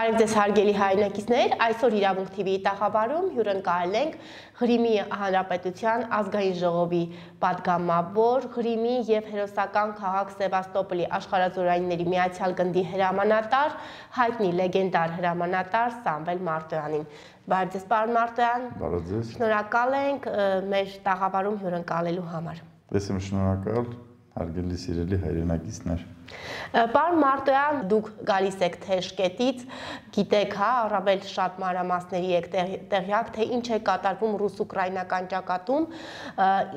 Բարև ձեզ հարգելի հայրենակիցներ, այսօր Իրավունք TV-ի տաղավարում հյուրընկալել ենք Ղրիմի Հանրապետության ազգային ժողովի պատգամավոր, Ղրիմի եւ հերոսական քաղաք Սևաստոպոլի աշխարհազորայինների միացյալ գնդի հրամանատար, հայտնի լեգենդար հրամանատար Սամվել Մարտոյանին։ Բարև ձեզ, պարոն Մարտոյան։ Բարև ձեզ։ Շնորհակալ ենք մեր տաղավարում հյուրընկալելու համար։ Ես եմ շնորհակալ, հարգելի սիրելի հայրենակիցներ։ Պարոն Մարտոյան, դուք գալիս եք Թեժկետից, գիտեք, հա, առավել շատ մանրամասների եք տեղյակ, թե ինչ է կատարվում ռուս-ուկրաինական ճակատում,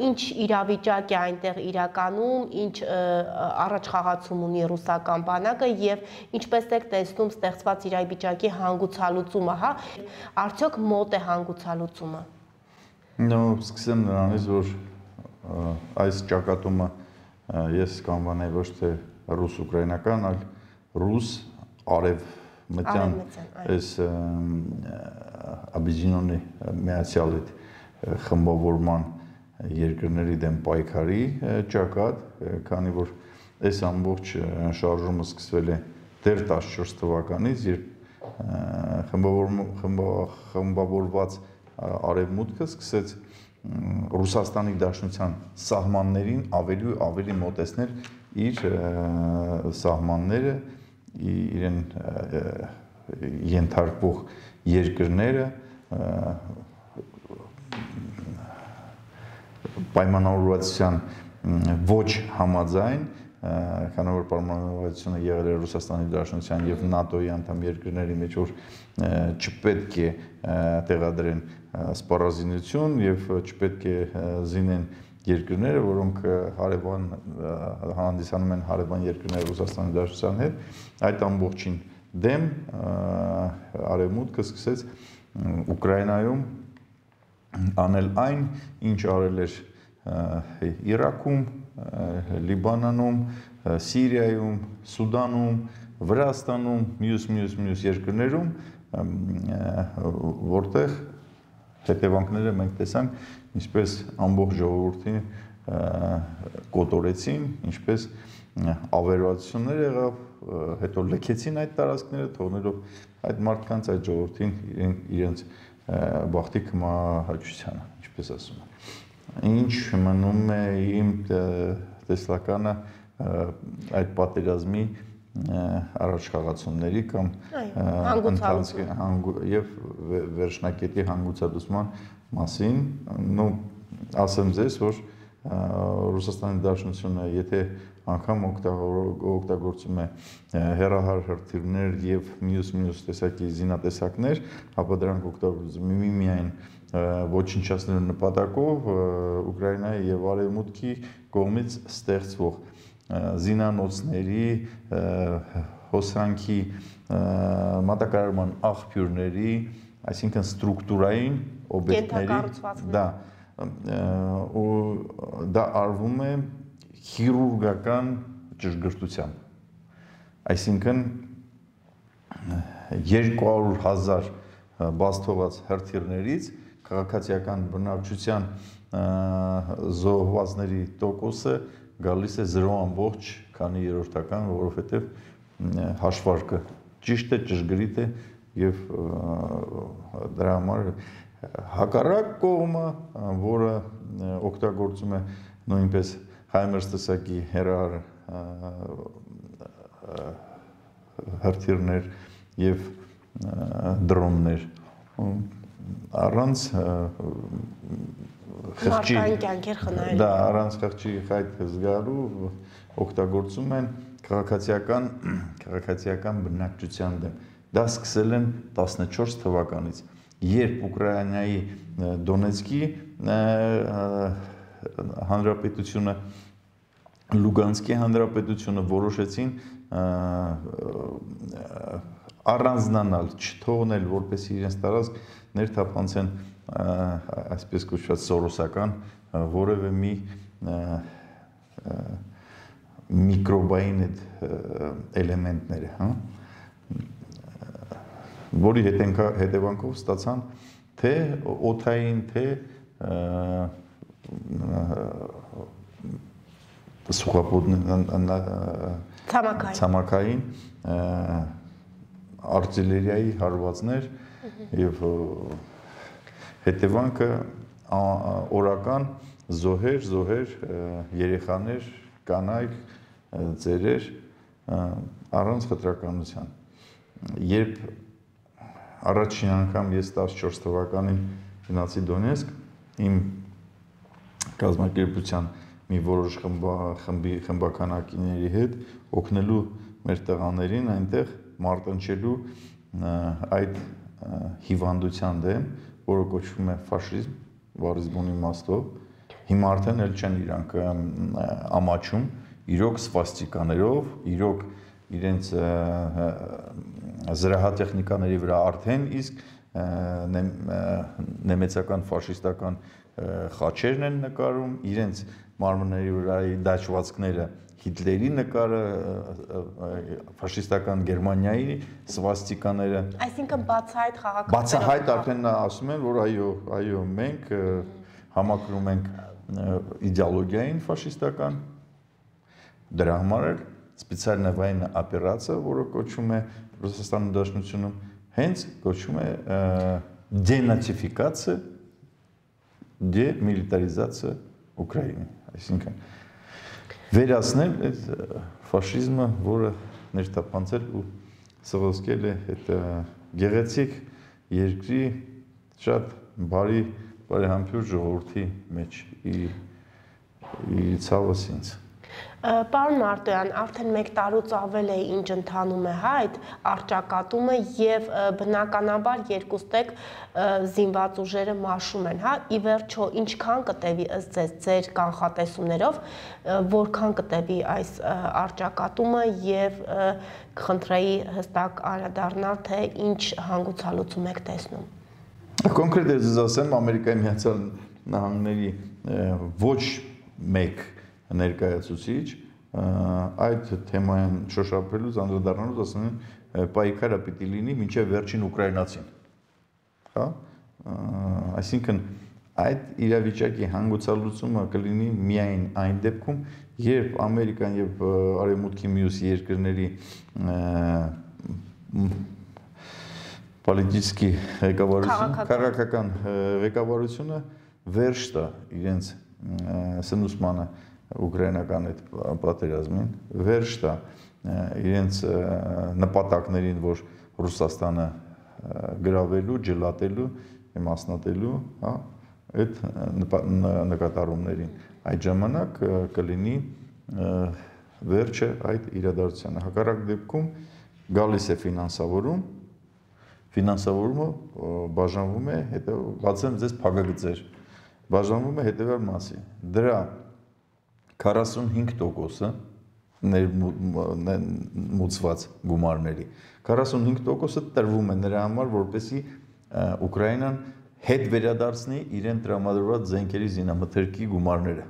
ինչ իրավիճակ է այնտեղ իրականում, ինչ առաջխաղացում ունի ռուսական բանակը եւ ինչպես եք տեսնում ստեղծված իրավիճակի հանգուցալուծումը, հա, արդյոք մոտ է հանգուցալուծումը։ Սկսեմ նրանից, որ այս ճակատումը ես կանվանեի ոչ թե ռուս-ուկրաինական, այլ ռուս-արևմտյան այս Աբիզինոնի միացյալ այդ խմբավորման երկրների դեմ պայքարի ճակատ, քանի որ այս ամբողջ շարժումը սկսվել է դեռ 14 թվականից, երբ խմբավորված արևմուտքը սկսեց Ռուսաստանի Դաշնության սահմաններին ավելի ու ավելի մոտեցնել իր սահմանները, իրեն ենթարկվող երկրները պայմանավորվածության ոչ համաձայն, քանի որ պայմանավորվածությունը եղել է Ռուսաստանի Դաշնության եւ ՆԱՏՕ-ի անդամ երկրների մեջ, որ չպետք է տեղադրեն սպառազինություն եւ չպետք է զինեն երկրները, որոնք հարևան հանդիսանում են հարևան երկրներ Ռուսաստանի Դաշնության հետ, այդ ամբողջին դեմ արևմուտքը սկսեց Ուկրաինայում անել այն, ինչ արել էր Իրաքում, Լիբանանում, Սիրիայում, Սուդանում, Վրաստանում, մյուս երկրներում, որտեղ հետևանքները մենք տեսանք, ինչպես ամբողջ ժողովրդին կոտորեցին, ինչպես ավերածություններ եղավ, հետո լքեցին այդ տարածքները, թողնելով այդ մարդկանց, այդ ժողովրդին իրենց բախտի կմահաճությանը, ինչպես ասում են։ Ինչ մնում է իմ տեսլականը այդ պատերազմի առաջխաղացումների կամ եւ վերջնակետի հանգուցալուծման մասին, ասեմ ձեզ, որ Ռուսաստանի Դաշնությունը, եթե անգամ օգտագործում է հեռահար հրթիռներ եւ մյուս տեսակի զինատեսակներ, ապա դրանք օգտագործում է միայն ոչնչացնելու նպատակով Ուկրաինայի եւ Արևմուտքի կողմից ստեղծվող զինանոցների, հոսանքի, մատակարարման աղբյուրների, այսինքն ստրուկտուրային օբյեկտների, դա արվում է քիրուրգական ճշգրտությամբ, այսինքն 200,000 բաց թողած հրթիռներից քաղաքացիական բնակչության զոհվածների տոկոսը գալիս է 0.քանի%, որովհետև հաշվարկը ճիշտ է, ճշգրիտ է եւ դրա համար հակառակ կողմը, որը օգտագործում է նույնպես Հայմերս տեսակի հեռահար հրթիռներ եւ դրոններ, առանց խղճի առանց խղճի խայտ զգալու օգտագործում են քաղաքացիական բնակչության դեմ։ Դա սկսել են 14 թվականից, երբ Ուկրաինայի Դոնեցկի հանրապետությունը, Լուգանսկի հանրապետությունը որոշեցին առանձնանալ, չթողնել, որպեսզի իրենց տարածք ներթափանցեն այսպես կոչված սորոսական որևէ մի միկրոբային էլեմենտները, հա, որի հետևանքով ստացան թե օդային, թե ցամաքային արտիլերիայի հարվածներ եւ հետևանքը օրական զոհեր, երեխաներ, կանայք, ծերեր առանց խտրականության։ Երբ առաջին անգամ ես 14 թվականին գնացի Դոնեցկ, իմ կազմակերպության մի որոշ խմբականակիների հետ օգնելու մեր տղաներին այնտեղ մարտնչելու այդ հիվանդության դեմ, որը կոչվում է ֆաշիզմ, բառի բուն իմաստով, հիմա արդեն էլ չեն իրանք ամաչում, իրոք սվաստիկաներով, իրոք իրենց զրահատեխնիկաների վրա արդեն իսկ նեմեցական ֆաշիստական խաչերն են նկարում, իրենց մարմնների վրայի դաշվածքները Հիտլերի նկարը, ֆաշիստական Գերմանիայի սվաստիկաները։ Այսինքն բացահայտ խաղաղ Բացահայտ արդեն ասում են, որ այո, մենք համակրում ենք իդեոլոգիային ֆաշիստական, դրա համար էլ սպեցիալնա վայնա օպերացիա, որը կոչվում է Ռուսաստանի Դաշնությունում, հենց կոչվում է դենացիֆիկացիա, դեմիլիտարիզացիա Ուկրաինի, այսինքն վերացնել այդ ֆաշիզմը, որը ներթափանցել ու սղոսկել է այդ գեղեցիկ երկրի շատ բարեհամբույր ժողովրդի մեջ իր ցավս ինձ։ Պարոն Մարտոյան, արդեն 1 տարուց ավել է ինչ ընթանում է այդ առճակատումը եւ բնականաբար երկուստեք զինված ուժերը մաշում են, հա, ի վերջո ինչքան կտևի ըստ ձեզ ձեր կանխատեսումներով, որքան կտևի այս առճակատումը եւ կխնդրեի հստակ անդրադառնալ, թե ինչ հանգուցալուծում եք տեսնում։ Կոնկրետ ես ասեմ, Ամերիկայի Միացյալ Նահանգների ոչ մեկ ներկայացուցիչ այդ թեմային շոշափելուց անդրադառնալուց ասում են պայքարը պիտի լինի մինչև վերջին ուկրաինացին, հա, այսինքն այդ իրավիճակի հանգուցալուծումը կլինի միայն այն դեպքում, երբ Ամերիկան եւ Արևմուտքի մյուս երկրների պոլիտիկի ղեկավարությունը, քաղաքական ղեկավարությունը վերջ տա իրենց սնուցմանը ուկրաինական այդ պատերազմին, վերջ տա իրենց նպատակներին, որ Ռուսաստանը գրավելու, ջլատելու, մասնատելու, հա, այդ նկատառումներին։ Այդ ժամանակ կլինի վերջը այդ իրադարձությանը։ Հակառակ դեպքում գալիս է ֆինանսավորումը բաժանվում է, բացեմ ձեզ փակագծեր, բաժանվում է հետևյալ մասի։ Դրա 45%-ը ներմուծված գումարների 45%-ը տրվում է նրա համար, որպեսզի Ուկրաինան հետ վերադարձնի իրեն տրամադրված զենքերի զինամթերքի գումարները։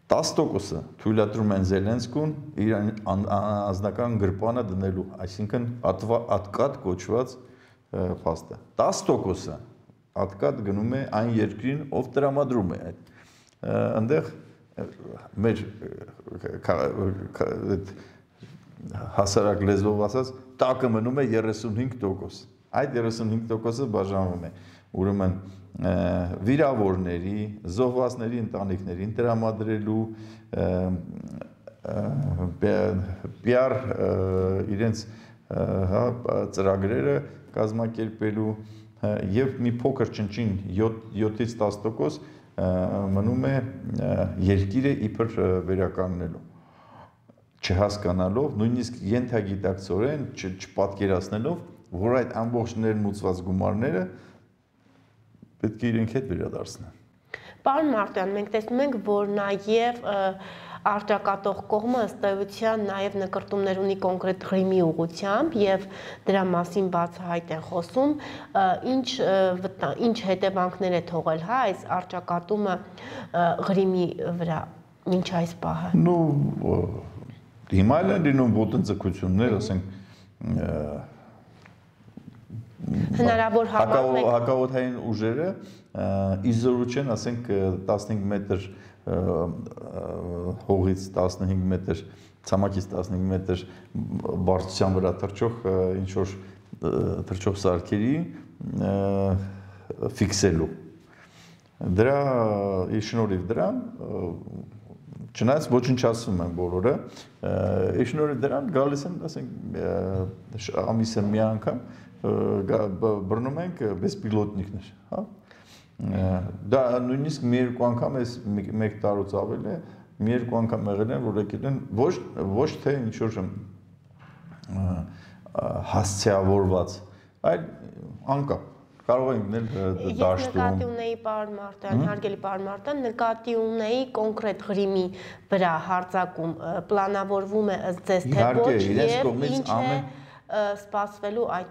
10%-ը թույլատրում են Զելենսկուն իր անձնական գրպանը դնելու, այսինքն ատկատ կոչված փաստը։ 10%-ը ատկատ գնում է այն երկրին, ով տրամադրում է այդ։ Այնտեղ մեր հասարակ լեզվով ասած տակը մնում է 35%։ Այդ 35%-ը բաժանվում է ուրեմն վիրավորների, զոհվածների ընտանիքներին տրամադրելու, PR իրենց ծրագրերը կազմակերպելու եւ մի փոքր ճնճին 7-ից 10% մնում է երկիրը իբր վերականգնելու, չհասկանալով, նույնիսկ ենթագիտակցորեն չպատկերացնելով, որ այդ ամբողջ ներմուծված գումարները պետք է իրենք հետ վերադարձնեն։ Պարոն Մարտոյան, մենք տեսնում ենք, որ նաև արտակատող կողմը ըստ էության նաև նկրտումներ ունի կոնկրետ Ղրիմի ուղղությամբ եւ դրա մասին բացահայտ են խոսում, ինչ հետևանքներ է թողել, հա, այս արտակատումը Ղրիմի վրա մինչ այս պահը։ Հիմա էլ են լինում ոտնձգություններ, ասենք հնարավոր հակաօդային ուժերը իզորու չեն, ասենք 15 մետր հողից 15 մետր ցամաքից 15 մետր բարձրության վրա թռչող սարքերի ֆիքսելու։ Դրա շնորհիվ դրան չնայած ոչնչացվում են բոլորը, շնորհիվ դրան գալիս են, ասենք, ամիսը մի անգամ բռնում ենք բեսպիլոտնիկներ, հա։ Դա նույնիսկ մի երկու անգամ էս մեկ տարուց ավել է, մի երկու անգամ եղել են, որ եկել են ոչ թե ինչ-որ հասցեավորված, այլ անկապ։ Կարող ենք նել դաշտում։ Ես նկատի ունեի պարոն Մարտոյան, հարգելի պարոն Մարտոյան, նկատի ունեի կոնկրետ Ղրիմի վրա հարձակում պլանավորվում է ըստ ձեզ թե ոչ եւ ինչ է սպասվելու այդ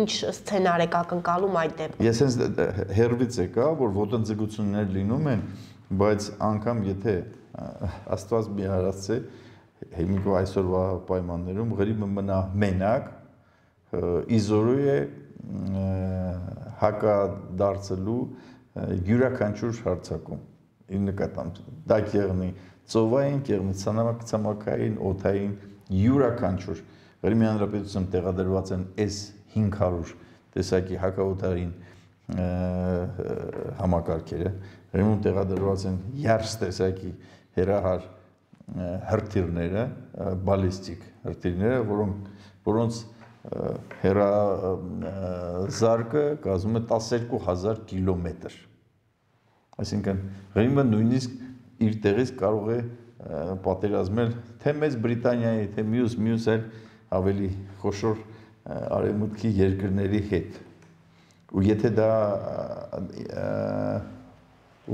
ինչ սցենար եք ակնկալում այդ դեպքում։ Ես հենց հերվից եկա, որ ոտնձգություններ լինում են, բայց անգամ եթե Աստված մի արածե հիմիկո այսօրվա պայմաններում Ղրիմը մնա մենակ իզորու է հակադարձելու յուրաքանչյուր հարձակում ի նկատմամբ դա կեղնի ծովային, կեղնի ցամաքային, օդային յուրաքանչյուր Ղրիմի Հանրապետությունում տեղադրված են այս 500 տեսակի հակաօդային համակարգերը Ղրիմում տեղադրված են երս տեսակի հերահար հրթիռները, բալիստիկ հրթիռները, որոնց հեռազարկը կազմում է 12000 կիլոմետր։ Այսինքն Ղրիմը նույնիսկ իր տեղից կարող է պատերազմել թե Մեծ Բրիտանիայի, թե մյուս այլ ավելի խոշոր արևմուտքի երկրների հետ։ Ու եթե դա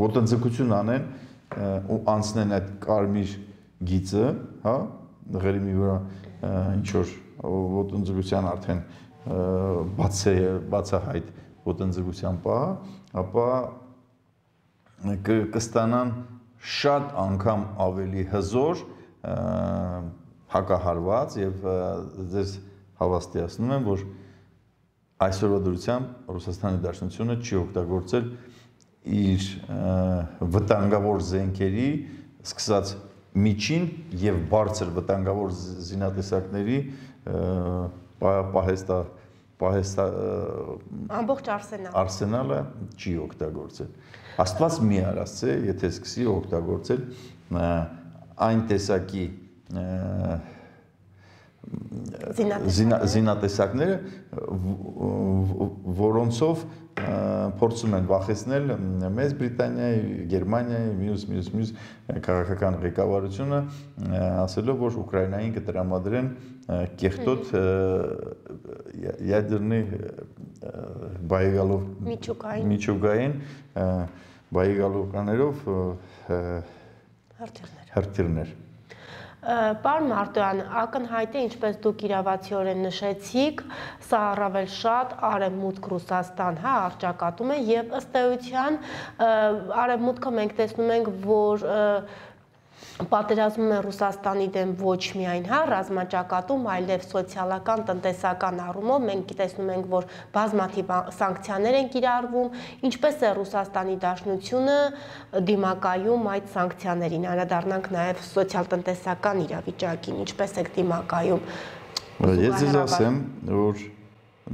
ոտնձգություն անեն ու անցնեն այդ կարմիր գիծը, հա, Ղրիմի վրա ինչ որ ոտնձգության արդեն բացահայտ ոտնձգության պահ, ապա կստանան շատ անգամ ավելի հզոր հակահարված եւ ձեզ հավաստիացնում եմ, որ այսօրվա դրությամբ Ռուսաստանի Դաշնությունը չի օգտագործել իր վտանգավոր զենքերի սկսած միջին եւ բարձր վտանգավոր զինատեսակների ամբողջ արսենալը չի օգտագործել։ Աստված մի արածե, եթե սկսի օգտագործել այն տեսակի զինատեսակները, որոնցով փորձում են վախեցնել Մեծ Բրիտանիայի, Գերմանիայի, մյուս քաղաքական ղեկավարությունը, ասելով, որ Ուկրաինային կտրամադրեն կեղտոտ ядерный բայգալով միջուկային բայգալովկաներով հրթիռներ։ Պարոն Մարտոյան, ակնհայտ է, ինչպես դուք իրավացիորեն նշեցիք, սա առավել շատ արևմուտք Ռուսաստան, հա, առճակատում է եւ ըստ էության արևմուտքը մենք տեսնում ենք, որ պատերազմում է Ռուսաստանի դեմ ոչ միայն, հա, ռազմաճակատում, այլև սոցիալական, տնտեսական առումով մենք տեսնում ենք, որ բազմաթիվ սանկցիաներ են կիրառվում, ինչպես է Ռուսաստանի Դաշնությունը դիմակայում այդ սանկցիաներին, անդրադառնանք նաև սոցիալ-տնտեսական իրավիճակին, ինչպես եք դիմակայում։ Ես ձեզ ասեմ, որ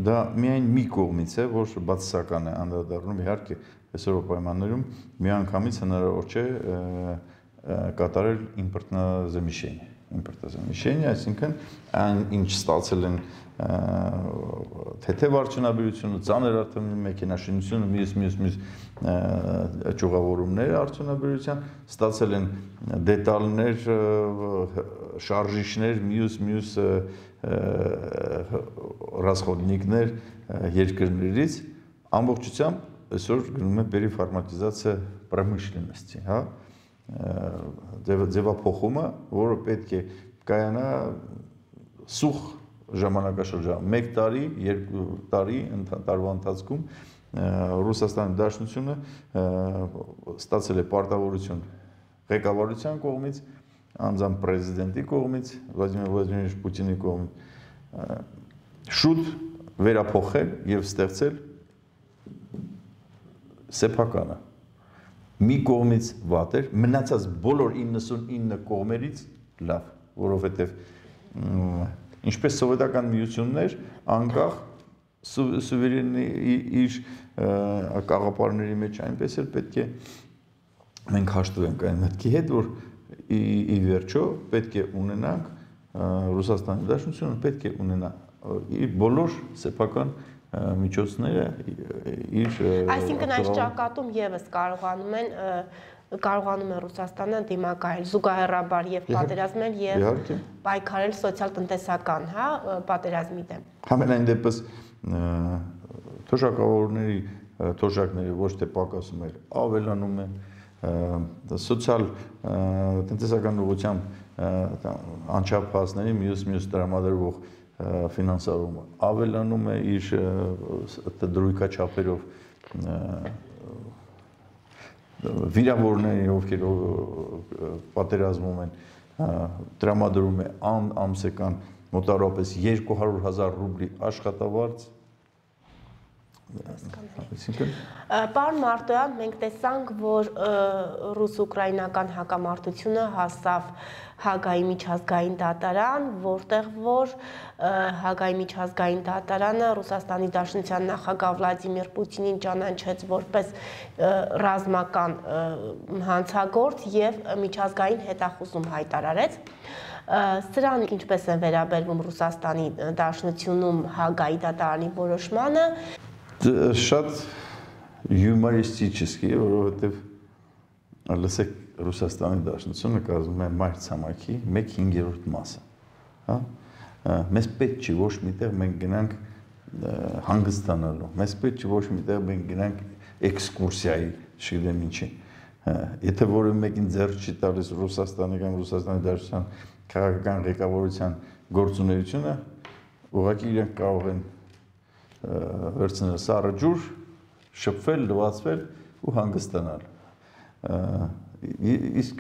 դա միայն մի կողմից է, որ բացասական է անդրադառնում, իհարկե, այսօրվա պայմաններում միանգամից հնարավոր չէ կատարել իմպորտազամիշենիա, այսինքն այն ինչ ստացել են թեթև արդյունաբերությունը, ծանր մեքենաշինությունը, մյուս ճյուղավորումները արդյունաբերության, ստացել են դետալներ, շարժիչներ, մյուս ռասխոդնիկներ երկրներից, ամբողջությամբ այսօր գնում է պերիֆարմատիզացիա պրոմышленности, հա, ձևափոխումը, որը պետք է կայանա սուղ ժամանակաշրջան, 1 տարի, 2 տարի տարվա ընթացքում Ռուսաստանի Դաշնությունը ստացել է պարտավորություն ղեկավարության կողմից, անձամբ պրեզիդենտի կողմից, Վլադիմիր Վլադիմիրովիչ Պուտինի կողմից շուտ վերափոխել եւ ստեղծել սեփականը, մի կողմից վատ էր, մնացած բոլոր 99 կողմերից լավ, որովհետև ինչպես սովետական միություններ անկախ սուվերենի իր կաղապարների մեջ այնպես էլ պետք է մենք հաշտվենք այն մտքի հետ, որ ի վերջո պետք է ունենանք Ռուսաստանի Դաշնությունը պետք է ունենա իր բոլոր սեփական միջոցները իր այսինքն այս ճակատում եւս կարողանում է Ռուսաստանը դիմակայել զուգահեռաբար եւ պատերազմել եւ պայքարել սոցիալ-տնտեսական, հա, պատերազմի դեմ։ Համենայն դեպս թոշակների ոչ թե պակասում է, ավելանում է սոցիալ-տնտեսական ուղղությամբ անչափահասների մյուս տրամադրվող ֆինանսավորումը ավելանում է իր դրույքաչափերով վիրավորների, ովքեր պատերազմում են, տրամադրում է ամսական մոտավորապես 200,000 ռուբլի աշխատավարձ։ Պարոն Մարտոյան, մենք տեսանք, որ ռուս-ուկրաինական հակամարտությունը հասավ Հագայի միջազգային դատարան, որտեղ որ Հագայի միջազգային դատարանը Ռուսաստանի Դաշնության նախագահ Վլադիմիր Պուտինին ճանաչեց որպես ռազմական հանցագործ եւ միջազգային հետախուզում հայտարարեց։ Սրան ինչպես են վերաբերվում Ռուսաստանի Դաշնությունում Հագայի դատարանի որոշմանը։ Շատ հյումորիստически, որովհետև լսեք Ռուսաստանի Դաշնությունը կազմում է մայրցամաքի 1/5 մասը, հա։ Մեզ պետք չի ոչ միտեղ մենք գնանք հանգստանալու, մեզ պետք չի ոչ միտեղ մենք գնանք էքսկուրսիայի, չգիտեմ ինչի։ Եթե որը մեկին ձեռք չի տալիս Ռուսաստանի կամ Ռուսաստանի Դաշնության քաղաքական ղեկավարության գործունեությունը, ուղղակի իրենք կարող են վերցնել սառը ջուր, շփվել, լվացվել ու հանգստանալ։ Իսկ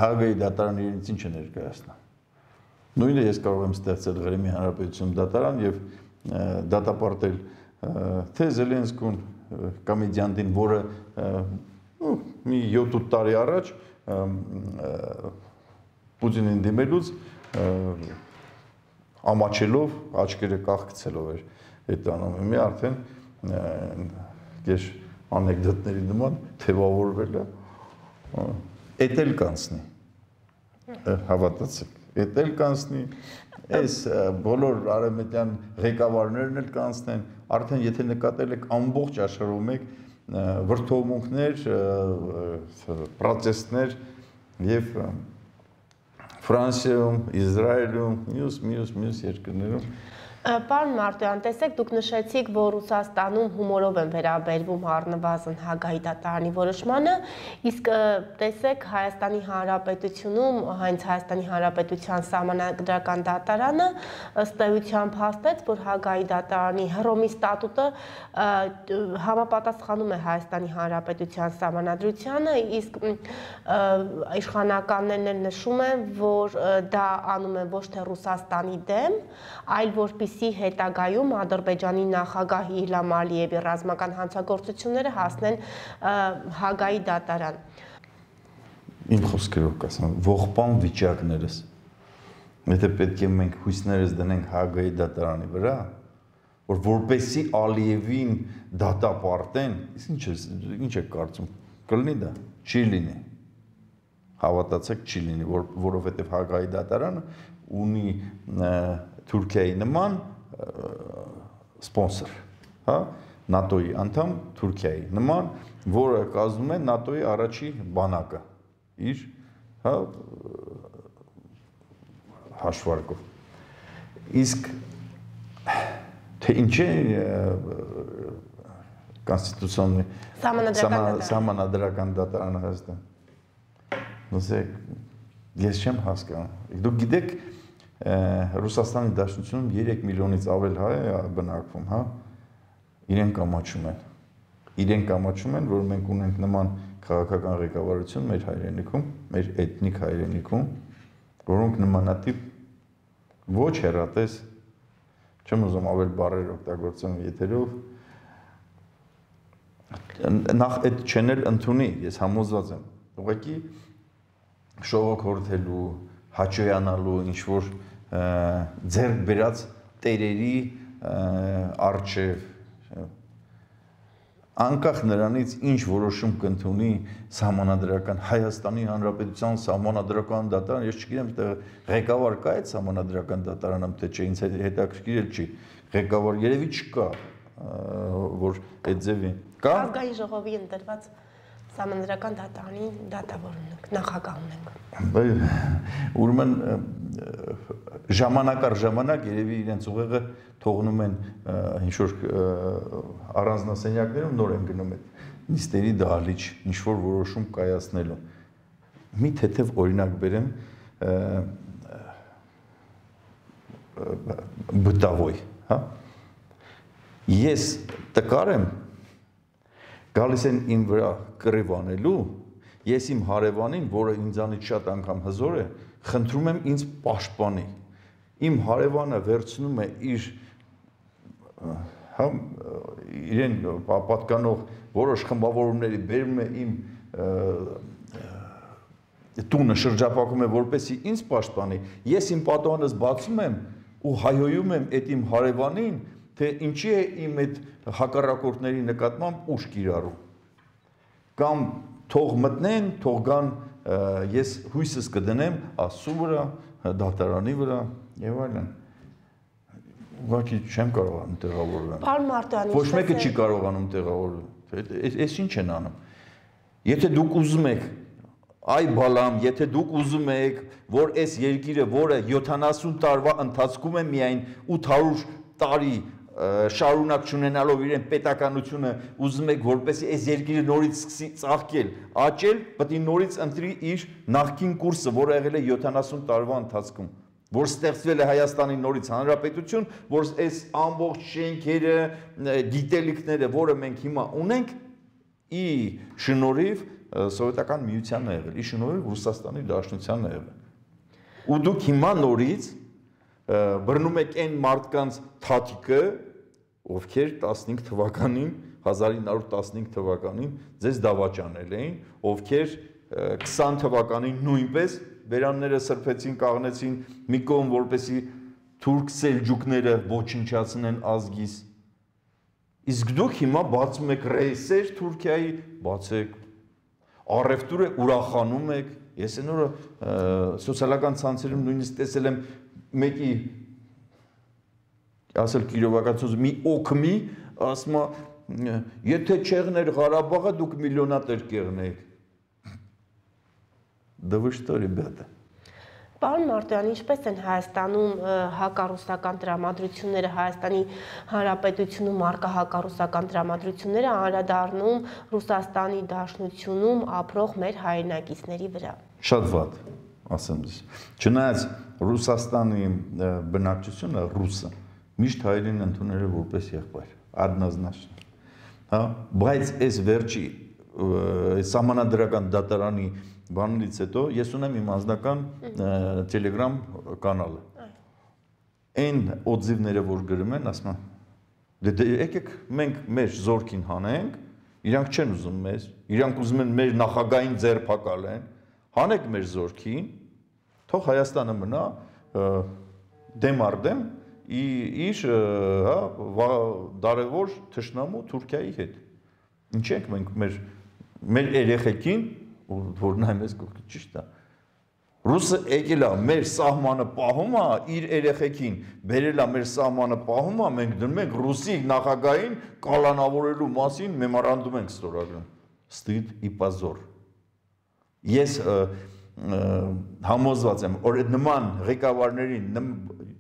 Հագայի դատարանը իրենից ինչ է ներկայացնում։ Նույնը ես կարող եմ ստեղծել Ղրիմի Հանրապետություն դատարան եւ դատապարտել թե Զելենսկուն կամ Իդիանդին, որը մի 7-8 տարի առաջ Պուտինին դիմելուց ամաչելով, աչքերը կախկցելով էր այդ անում։ Մի արդեն ես անեկդոտների նման թևավորվել է, էդ էլ կանցնի, հավատացեք, էդ էլ կանցնի, այս բոլոր արևմտյան ղեկավարներն էլ կանցնեն, արդեն եթե նկատել եք ամբողջ աշխարհում եք վրդովմունքներ, պրոտեստներ եւ Ֆրանսիայում, Իսրայելում, մյուս երկրներում Պարոն Մարտոյան, տեսեք, դուք նշեցիք, որ Ռուսաստանում հումորով են վերաբերվում առնվազն Հագայի դատարանի որոշմանը, իսկ տեսեք Հայաստանի Հանրապետությունում, հենց Հայաստանի Հանրապետության սահմանադրական դատարանը ըստ էության փաստեց, որ Հագայի դատարանի Հռոմի ստատուտը համապատասխանում է Հայաստանի Հանրապետության սահմանադրությանը, իսկ իշխանականներն էլ նշում են, որ դա անում են ոչ թե Ռուսաստանի դեմ, այլ որպեսզի հետագայում Ադրբեջանի նախագահ Իլհամ Ալիևի ռազմական հանցագործությունները հասնեն Հագայի դատարան։ Իմ խոսքերով կասեմ, ողբան վիճակներս, եթե պետք է մենք հույսներս դնենք Հագայի դատարանի վրա, որ որպեսզի Ալիևին դատապարտեն, ինչ է կարծում, կլինի դա, չի լինի, հավատացեք չի լինի, որովհետև Հագայի դատարանը ունի Թուրքիայի նման սպոնսոր, հա, ՆԱՏՕ-ի անդամ Թուրքիայի նման, որը կազմում է ՆԱՏՕ-ի առաջի բանակը իր, հա, հաշվարկով։ Իսկ թե ինչ է կոնստիտուցիոննի սահմանադրական դատարանը Հայաստան։ Լսեք, ես չեմ հասկանում։ Դուք գիտեք, Ռուսաստանի Դաշնությունում 3 միլիոնից ավել հայ է բնակվում, հա, իրենք ամաչում են, որ մենք ունենք նման քաղաքական ղեկավարություն մեր հայրենիքում, մեր էթնիկ հայրենիքում, որոնք նմանատիպ ոչ հեռատես, չեմ ուզում ավել բառեր օգտագործեմ եթերով, նախ այդ չեն էլ ընդունի, ես համոզված եմ։ Ուղղակի շողոքորթելու, հաճոյանալու, ինչ որ ձեռք բերած տերերի առջև անկախ նրանից ինչ որոշում կընդունի Սահմանադրական Հայաստանի Հանրապետության Սահմանադրական դատարան, ես չգիտեմ, ղեկավար կա այդ Սահմանադրական դատարանը, թե չէ, ինձ հետաքրքիր չի, ղեկավար երևի չկա, որ այդ ձևի կա։ Ազգային ժողովի ընտրված Սահմանադրական դատարանի դատավոր ունենք, նախագահ ունենք։ Ուրեմն ժամանակ առ ժամանակ երևի իրենց ուղեղը թողնում են ինչ-որ առանձնասենյակներում նոր են գնում այդ նիստերի դահլիճ, ինչ-որ որոշում կայացնելու։ Մի թեթև օրինակ բերեմ բտավոյ, հա։ Ես տկար եմ, գալիս են իմ վրա կռիվ անելու, ես իմ հարևանին, որը ինձանից շատ անգամ հզոր է, խնդրում եմ ինձ պաշտպանի։ Իմ հարևանը վերցնում է իր իրեն պատկանող որոշ խմբավորումների բերում է իմ տունը շրջապակում է, որպեսզի ինձ պաշտպանի, ես իմ պատուհանս բացում եմ ու հայհոյում եմ այդ իմ հարևանին, թե ինչի է իմ այդ հակառակորդների նկատմամբ ուժ կիրառում։ Կամ թող մտնեն, թող գան, ես հույսս կդնեմ Աստծու վրա, դատարանի վրա եւ այլն։ Ուղղակի չեմ կարողանում տեղավորվել։ Պարոն Մարտոյան, ոչ մեկը չի կարողանում տեղավորվել։ Այս ինչ են անում։ Եթե դուք ուզում եք, այ բալամ, եթե դուք ուզում եք, որ այս երկիրը, որը 70 տարվա ընթացքում է միայն 800 տարի շարունակ չունենալով իրեն պետականությունը, ուզում եք, որպեսզի այս երկիրը նորից սկսի ծաղկել, աճել, պետք է նորից ընտրի իր նախկին կուրսը, որը եղել է 70 տարվա ընթացքում, որ ստեղծվել է Հայաստանի նորից հանրապետություն, որ այս ամբողջ շենքերը, գիտելիքները, որը մենք հիմա ունենք, ի շնորհիվ Սովետական միությանն է եղել, ի շնորհիվ Ռուսաստանի Դաշնությանն է եղել։ Ու դուք հիմա նորից բռնում եք այն մարդկանց թաթիկը, ովքեր 15 թվականին, 1915 թվականին ձեզ դավաճանել էին, ովքեր 20 թվականին նույնպես բերանները սրբեցին, կաղնեցին մի կողմ, որպեսզի թուրք սելջուկները ոչնչացնեն ազգիս։ Իսկ դուք հիմա բացում եք ռեյսեր Թուրքիայի, բացեք, առևտուրը ուրախանում եք, ես այն օրը սոցիալական ցանցերում նույնիսկ տեսել եմ մեկի ասել Կիրովակացուց մի օքմի, ասում է, եթե չեղներ Ղարաբաղը, դուք միլիոնատեր կեղնեիք։ Да вы что, ребята? Պարոն Մարտոյան, ինչպես են Հայաստանում հակառուսական տրամադրությունները, Հայաստանի Հանրապետությունում առկա հակառուսական տրամադրությունները անդրադառնում Ռուսաստանի Դաշնությունում ապրող մեր հայրենակիցների վրա։ Շատ վատ, ասեմ ձեզ։ Չնայած Ռուսաստանի բնակչությունը ռուսը միշտ հայերին ընդունել է որպես եղբայր, однозначно։ Հա, բայց այս վերջի սահմանադրական դատարանի բանից հետո ես ունեմ իմ անձնական Telegram կանալը։ Այն օձիվները, որ գրում են, ասում են, դե եկեք մենք մեր զորքին հանենք, իրանք չեն ուզում մեզ, իրանք ուզում են մեր նախագահային ձերբակալեն, հանեք մեր զորքին, թող Հայաստանը մնա դեմ առ դեմ իր դարևոր թշնամու Թուրքիայի հետ։ Ինչ ենք մենք մեր երեխեքին, որ նայում ես կողքի ճիշտ է։ Ռուսը եկել է մեր սահմանը պահում է իր երեխեքին, բերել է մեր սահմանը պահում է, մենք դնում ենք ռուսի նախագահին կալանավորելու մասին մեմորանդում ենք ստորագրում։ Ստիդ ի պազոր։ Ես համոզված եմ, որ նման ղեկավարներին,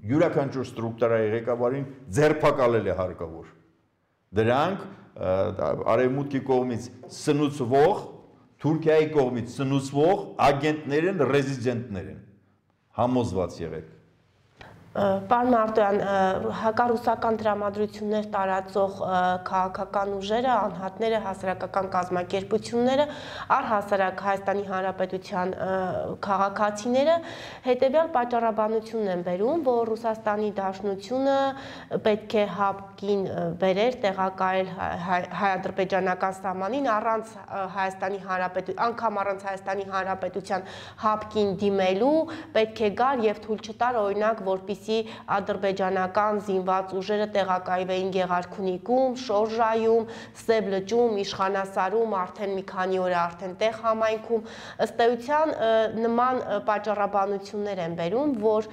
յուրաքանչյուր ստրուկտուրայի ղեկավարին ձերբակալել է հարկավոր։ Դրանք արևմուտքի կողմից սնուցվող, Թուրքիայի կողմից սնուցվող ագենտներ են, ռեզիդենտներ են։ Համոզված եղեք։ Պարոն Մարտոյան, հակառուսական դրամատրություններ տարածող քաղաքական ուժերը, անհատները, հասարակական կազմակերպությունները, առհասարակ Հայաստանի Հանրապետության քաղաքացիները հետևյալ պատճառաբանությունն են բերում, որ Ռուսաստանի Դաշնությունը պետք է հապկին բերեր, տեղակայել հայ-ադրբեջանական սահմանին առանց Հայաստանի Հանրապետության, անգամ առանց Հայաստանի Հանրապետության հապկին դիմելու, պետք է գար եւ թույլ չտար օրինակ, որպեսզի ադրբեջանական զինված ուժերը տեղակայվեին Գեղարքունիքում, Շորժայում, Սև լճում, Իշխանասարում, արդեն մի քանի օր արդեն տեղ համայնքում, ըստ էության նման պատճառաբանություններ են բերում, որ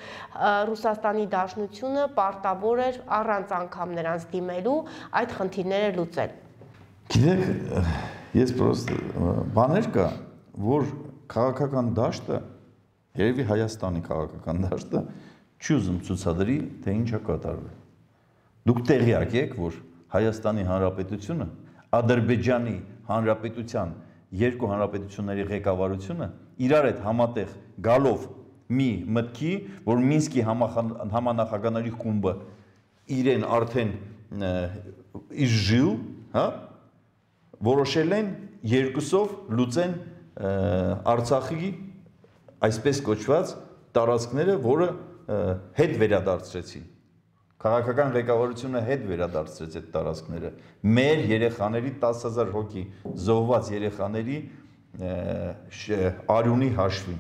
Ռուսաստանի Դաշնությունը պարտավոր էր առանց անգամ նրանց դիմելու այդ խնդիրները լուծել։ Գիտեք, ես պրոստ բաներ կա, որ քաղաքական դաշտը, երևի Հայաստանի քաղաքական դաշտը չի ուզում ցուցադրի, թե ինչ է կատարվել։ Դուք տեղյակ եք, որ Հայաստանի Հանրապետությունը, Ադրբեջանի Հանրապետության երկու հանրապետությունների ղեկավարությունը իրար հետ համատեղ գալով մի մտքի, որ Մինսկի համանախագահների խումբը իրեն արդեն իժժիլ, հա, որոշել են երկուսով լուծեն Արցախի այսպես կոչված տարածքները, որը հետ վերադարձրեցին։ Քաղաքական ղեկավարությունը հետ վերադարձրեց այդ տարածքները։ Մեր երեխաների 10,000 հոգի զոհված երեխաների արյունի հաշվին։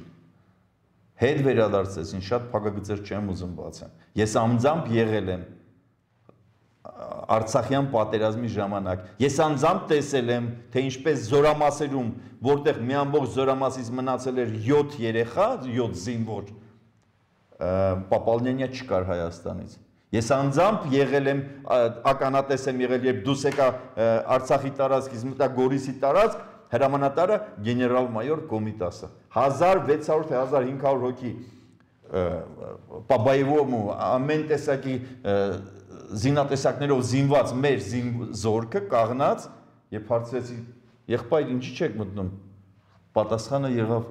Հետ վերադարձեցին, շատ փակագծեր չեմ ուզում բացեմ։ Ես անձամբ եղել եմ Արցախյան պատերազմի ժամանակ։ Ես անձամբ տեսել եմ, թե ինչպես զորամասերում, որտեղ մի ամբողջ զորամասից մնացել էր 7 երեխա, 7 զինվոր, Պապալնենիա չկար Հայաստանից։ Ես անձամբ եղել եմ, ականատես եմ եղել, երբ դուրս եկա Արցախի տարածքից, մտա Գորիսի տարածք, հրամանատարը գեներալ-մայոր Կոմիտասը։ 1600 թե 1500 հոգի Պաբայևոմ ու ամեն տեսակի զինատեսակներով զինված մեր զորքը կաղնած, երբ հարցրեցի, եղբայր ինչի չեք մտնում, պատասխանը եղավ,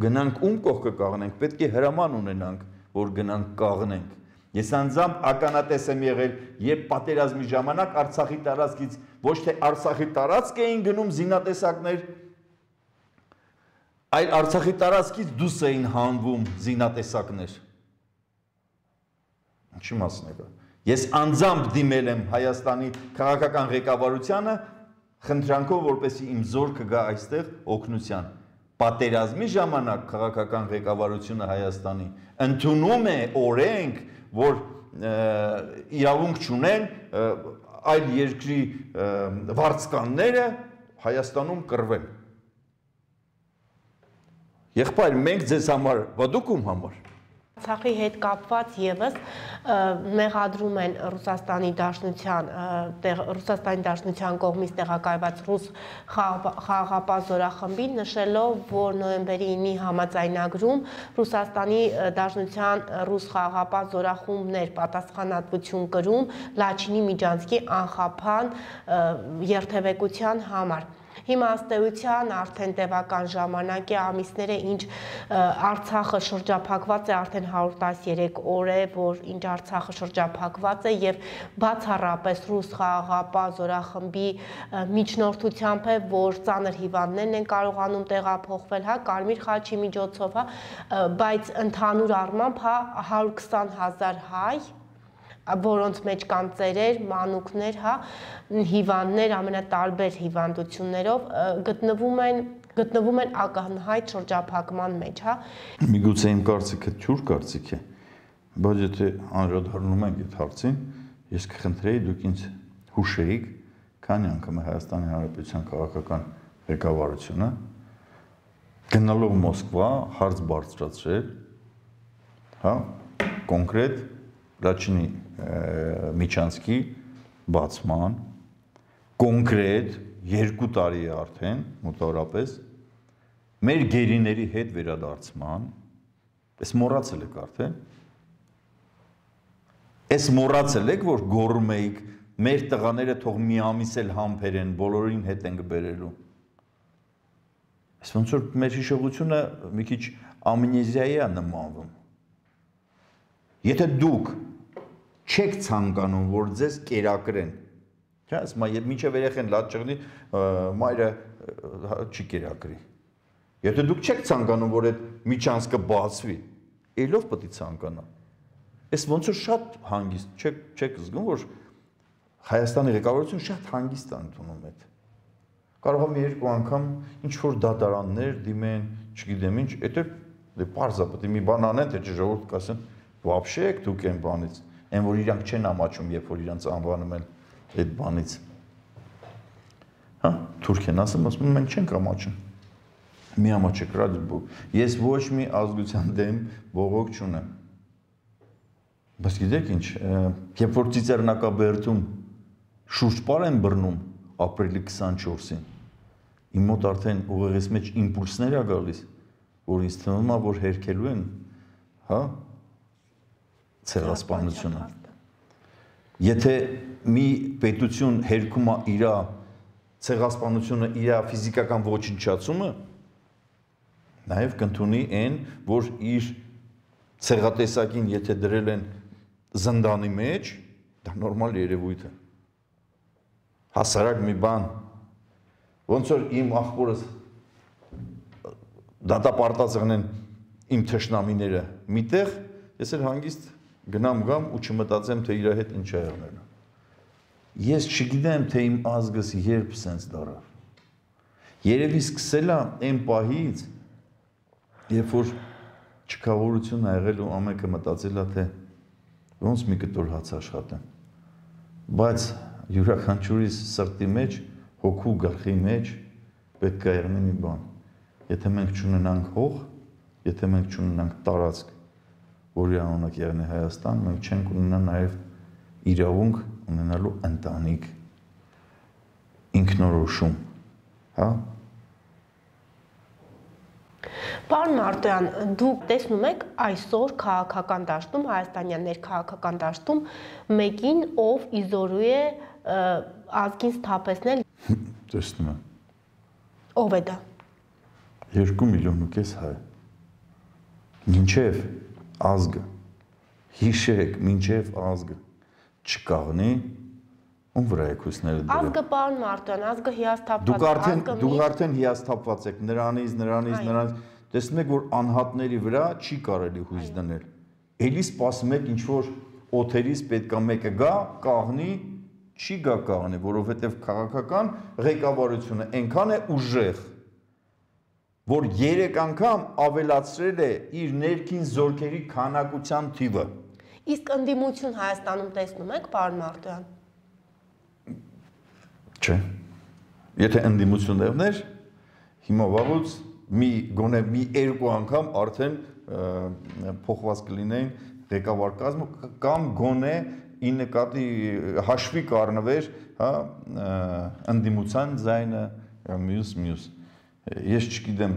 գնանք ում կողքը կաղնենք, պետք է հրաման ունենանք, որ գնանք կաղնենք։ Ես անձամբ ականատես եմ եղել, երբ պատերազմի ժամանակ Արցախի տարածքից ոչ թե Արցախի տարածք էին գնում զինատեսակներ, այլ Արցախի տարածքից դուրս էին հանվում զինատեսակներ։ Ինչի մասն է դա։ Ես անձամբ դիմել եմ Հայաստանի քաղաքական ղեկավարությանը խնդրանքով, որպեսզի իմ զորքը գա այստեղ օգնության։ Պատերազմի ժամանակ քաղաքական ղեկավարությունը Հայաստանի ընդունում է օրենք, որ իրավունք չունեն այլ երկրի վարձկանները Հայաստանում կռվեն։ Եղբայր, մենք ձեզ համար, բա դուք ում համար։ Արցախի հետ կապված եւս մեղադրում են Ռուսաստանի Դաշնության կողմից տեղակայված ռուս խաղաղապահ զորախմբին, նշելով, որ նոյեմբերի 9-ի համաձայնագրում Ռուսաստանի Դաշնության ռուս խաղաղապահ զորախումբներ պատասխանատվություն կրում Լաչինի Միջանցքի անխափան երթևեկության համար։ Հիմա ըստ էության արդեն տևական ժամանակ է, ամիսներ է, ինչ Արցախը շրջափակված է, արդեն 113 օր է, որ ինչ Արցախը շրջափակված է եւ բացառապես ռուս խաղաղապահ զորախմբի միջնորդությամբ է, որ ծանր հիվանդներն են կարողանում տեղափոխվել, հա, Կարմիր խաչի միջոցով, հա, բայց ընդհանուր առմամբ, հա, 120,000 հայ, որոնց մեջ կան ծերեր, մանուկներ, հա, հիվանդներ ամենատարբեր հիվանդություններով գտնվում են ակնհայտ շրջափակման մեջ, հա։ Միգուցե իմ կարծիքը թյուր կարծիք է, բայց եթե անդրադառնում ենք այդ հարցին, ես կխնդրեի դուք ինձ հուշեիք, քանի անգամ է Հայաստանի Հանրապետության քաղաքական ղեկավարությունը գնալով Մոսկվա հարց բարձրացրել, հա, կոնկրետ Լաչինի Միջանցքի բացման, կոնկրետ 2 տարի է արդեն, մոտավորապես, մեր գերիների հետ վերադարձման, ես մոռացել եք արդեն, ես մոռացել եք, որ գոռում էիք, մեր տղաները թող մի ամիս էլ համբերեն, բոլորին հետ ենք բերելու։ Ես ոնց որ մեր հիշողությունը մի քիչ ամնեզիայի է նմանվում։ Եթե դուք չեք ցանկանում, որ ձեզ կերակրեն, չէ՞, ասում եմ, մինչև երեխեն լաց ճղնի, մայրը չի կերակրի։ Եթե դուք չեք ցանկանում, որ այդ միջանցքը բացվի, ելով պետք է ցանկանա։ Այս ոնց որ շատ հանգիստ, չեք զգում, որ Հայաստանի ղեկավարությունը շատ հանգիստ է ընդունում այդ։ Կարող է մի երկու անգամ ինչ որ դատարաններ դիմեն, չգիտեմ ինչ, դա պարզա պետք է մի բան անեն, թե ժողովուրդ կասեն, вообще եք դուք այն բանից, այն որ իրանք չեն ամաչում, երբ որ իրանք անվանում են այդ բանից։ Հա, Թուրքիան ասում, մենք չենք ամաչում։ Մի ամաչեք, ես ոչ մի ազգության դեմ բողոք չունեմ։ Բայց գիտեք ինչ, երբ որ Ծիծեռնակաբերդում շուրջպար են բռնում ապրիլի 24-ին, իմ մոտ արդեն ուղեղիս մեջ իմպուլսներ է գալիս, որ ինձ թվում է, որ հերքելու են, հա, ցեղասպանությունը։ Եթե մի պետություն հերքում է իր ցեղասպանությունը, իր ֆիզիկական ոչնչացումը, նաև կընդունի այն, որ իր ցեղատեսակին եթե դրել են զնդանի մեջ, դա նորմալ երևույթ է։ Հասարակ մի բան, ոնց որ իմ աղբորս դատապարտած եղնեն իմ թշնամիները միտեղ, ես էլ հանգիստ գնամ ու չմտածեմ, թե իր հետ ինչ է եղնելու։ Ես չգիտեմ, թե իմ ազգս երբ սենց դարավ։ Երևի սկսել է այն պահից, երբ որ չքավորություն ա եղել ու ամենքը մտածել է, թե ոնց մի կտոր հաց աշխատեմ։ Բայց յուրաքանչյուրիս սրտի մեջ, հոգու գլխի մեջ պետք է եղնի մի բան։ Եթե մենք չունենանք հող, եթե մենք չունենանք տարածք, որի անունը կեղնի Հայաստան, մենք չենք ունենա նաև իրավունք ունենալու ընտանիք, ինքնորոշում, հա։ Պարոն Մարտոյան, դուք տեսնում եք այսօր քաղաքական դաշտում, հայաստանյան ներքաղաքական դաշտում մեկին, ով իզորու է ազգին սթափեցնել։ Տեսնում եմ։ Ով է դա։ 2,5 միլիոն հայ։ Մինչև ազգը, հիշեք, մինչև ազգը չկաղնի, ում վրա եք հույսները դրել։ Ազգը, պարոն Մարտոյան, ազգը հիասթափված է։ Դուք արդեն հիասթափված եք, նրանից, տեսնում եք, որ անհատների վրա չի կարելի հույս դնել։ Էլի սպասում եք ինչ-որ օթերից պետքա մեկը գա, կաղնի, չի գա կաղնի, որովհետև քաղաքական ղեկավարությունը այնքան է ուժեղ, որ 3 անգամ ավելացրել է իր ներքին զորքերի քանակության թիվը։ Իսկ ընդդիմություն Հայաստանում տեսնում եք, պարոն Մարտոյան։ Չէ։ Եթե ընդդիմություն դեռներ, հիմա վաղուց գոնե մի 2 անգամ արդեն փոխված կլինեին ղեկավար կազմը կամ գոնե ի նկատի հաշվի կառնվեր, հա, ընդդիմության ձայնը մյուս։ Ես չգիտեմ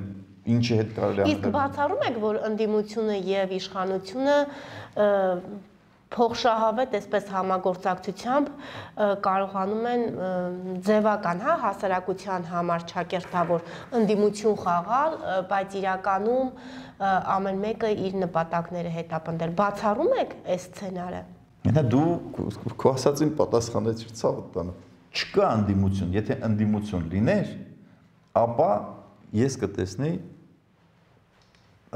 ինչի հետ կարելի է։ Իսկ բացառում եք, որ ընդդիմությունը եւ իշխանությունը փոխշահավետ, այսպես համագործակցությամբ կարողանում են ձևական, հա, հասարակության համար չակերտավոր ընդդիմություն խաղալ, բայց իրականում ամեն մեկը իր նպատակները հետապնդել։ Բացառում եք այս սցենարը։ Նա դու քո ասածին պատասխանեցիր ցավը տանը։ Չկա ընդդիմություն, եթե ընդդիմություն լիներ, ապա ես կտեսնեի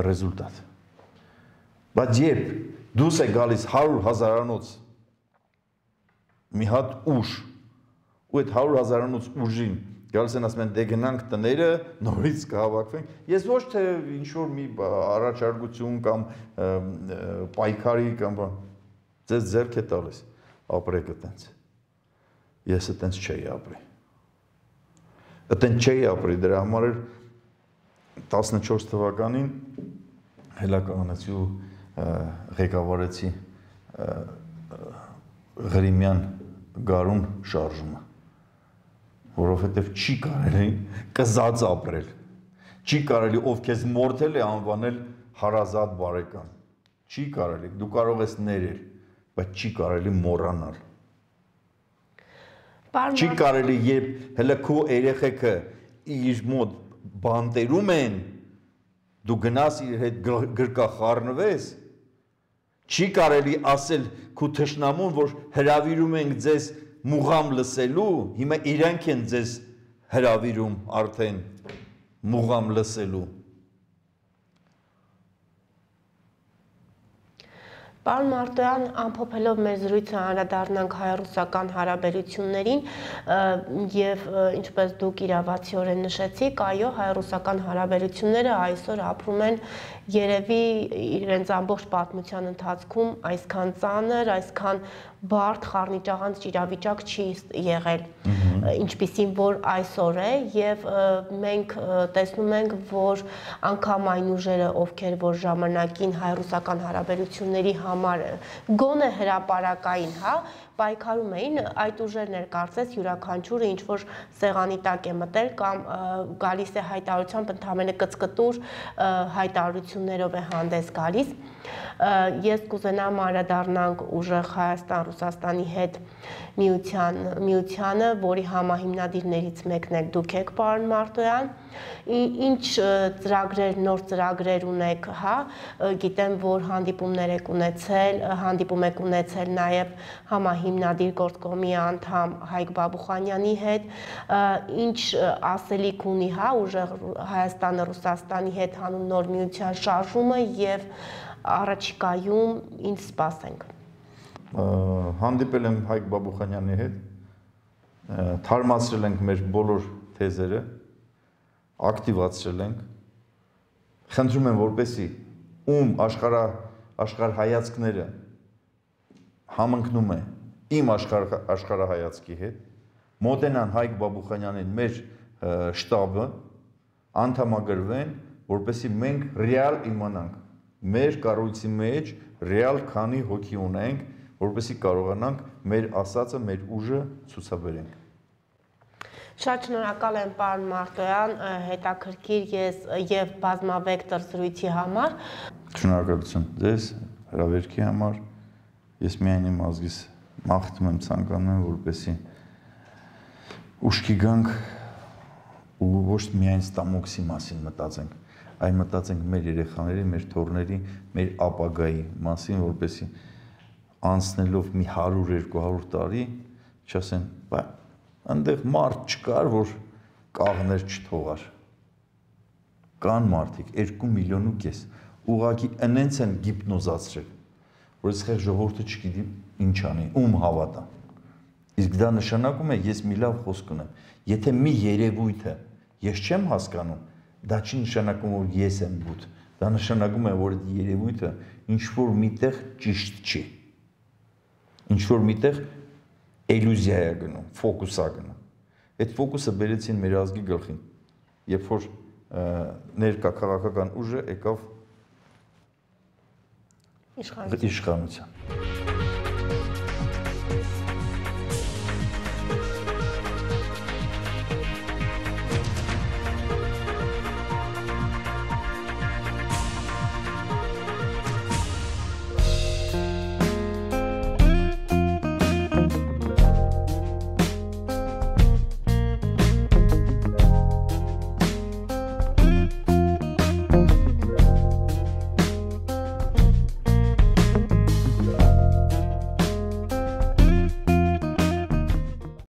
ռեզուլտատ։ Բայց երբ դուս է գալիս 100 հազարանոց մի հատ ուժ, ու այդ 100 հազարանոց ուժին գալիս են ասում են դե գնանք տները, նորից կհավաքվենք, ես ոչ թե ինչ-որ մի առաջարկություն կամ պայքարի կամ ձեզ ձեռք է տալիս, ապրեք այտենց։ Ես այտենց չէի ապրի։ Այտենց չէի ապրի, դրա համար էր 14 թվականին հելականացի ղեկավարեցի Ղրիմյան գարուն շարժումը, որովհետև չի կարելի կզած ապրել, չի կարելի ով քեզ մորթել է անվանել հարազատ բարեկամ, չի կարելի, դու կարող ես ներել, բայց չի կարելի մոռանալ, չի կարելի, երբ հələ քո երեխեքը իր մոտ բանտերում են, դու գնաս իր հետ գրկախառնվես, Չի կարելի ասել քու թշնամուն, որ հրավիրում ենք ձեզ մուղամ լսելու, հիմա իրանք են ձեզ հրավիրում արդեն մուղամ լսելու։ Պարոն Մարտոյան, ամփոփելով մեր զրույցը անդրադառնանք հայ-ռուսական հարաբերություններին եւ ինչպես դուք իրավացիորեն նշեցիք, այո, հայ-ռուսական հարաբերությունները այսօր ապրում են երևի իրենց ամբողջ պատմության ընթացքում այսքան ծանր, այսքան բարդ խառնիճաղանց իրավիճակ չի եղել, ինչպիսին որ այսօր է, եւ մենք տեսնում ենք, որ անգամ այն ուժերը, ովքեր որ ժամանակին հայ-ռուսական հարաբերությունների համար գոնե հրապարակային, հա, պայքարում էին, այդ ուժերն էր կարծես յուրաքանչյուրը ինչ որ սեղանի տակ է մտել կամ գալիս է հայտարարությամբ ընդհանրապես կծկտուր հայտարարություններով է հանդես գալիս։ Ես կուզենամ անդրադառնանք ուժեղ Հայաստան-Ռուսաստանի հետ միությանը, որի համահիմնադիրներից մեկն եք դուք եք, պարոն Մարտոյան, ինչ ծրագրեր, նոր ծրագրեր ունեք, հա, գիտեմ, որ հանդիպումներ եք ունեցել, հանդիպում եք ունեցել նաև համահիմնադիր գործկոմի անդամ Հայկ Բաբուխանյանի հետ, ինչ ասելիք ունի, հա, ուժեղ Հայաստանը Ռուսաստանի հետ հանուն նոր միության շարժումը եւ առաջիկայում ինչ սպասենք։ Հանդիպել եմ Հայկ Բաբուխանյանի հետ, թարմացրել ենք մեր բոլոր թեզերը, ակտիվացրել ենք, խնդրում եմ, որպեսզի ում աշխարհայացքները համընկնում է իմ աշխարհայացքի հետ, մոտենան Հայկ Բաբուխանյանին մեր շտաբը, անդամագրվեն, որպեսզի մենք ռեալ իմանանք, մեր կառույցի մեջ ռեալ քանի հոգի ունենք, որպեսզի կարողանանք մեր ասածը, մեր ուժը ցուցաբերենք։ Շատ շնորհակալ եմ, պարոն Մարտոյան, հետաքրքիր եւ բազմավեկտոր զրույցի համար։ Շնորհակալություն ձեզ հրավերքի համար։ Ես միայն իմ ազգիս մաղթում եմ, ցանկանում եմ, որպեսզի ուշքի գանք ու ոչ միայն ստամոքսի մասին մտածենք, այլ մտածենք մեր երեխաների, մեր թոռների, մեր ապագայի մասին, որպեսզի անցնելով մի 100-200 տարի չասեն, բա այնտեղ մարդ չկար, որ կաղներ չթողար։ Կան մարդիկ 2,5 միլիոն, ուղղակի ընենց են գիպնոզացրել, որ այս խեղ ժողովուրդը չգիտի ինչ անի, ում հավատա։ Իսկ դա նշանակում է, ես մի լավ խոսք ունեմ, եթե մի երևույթը ես չեմ հասկանում, դա չի նշանակում, որ ես եմ բութ, դա նշանակում է, որ այդ երևույթը ինչ-որ միտեղ ճիշտ չի, ինչ-որ միտեղ էլյուզիա է գնում, ֆոկուս է գնում։ Այդ ֆոկուսը բերեցին մեր ազգի գլխին, երբ որ ներկա քաղաքական ուժը եկավ իշխանության։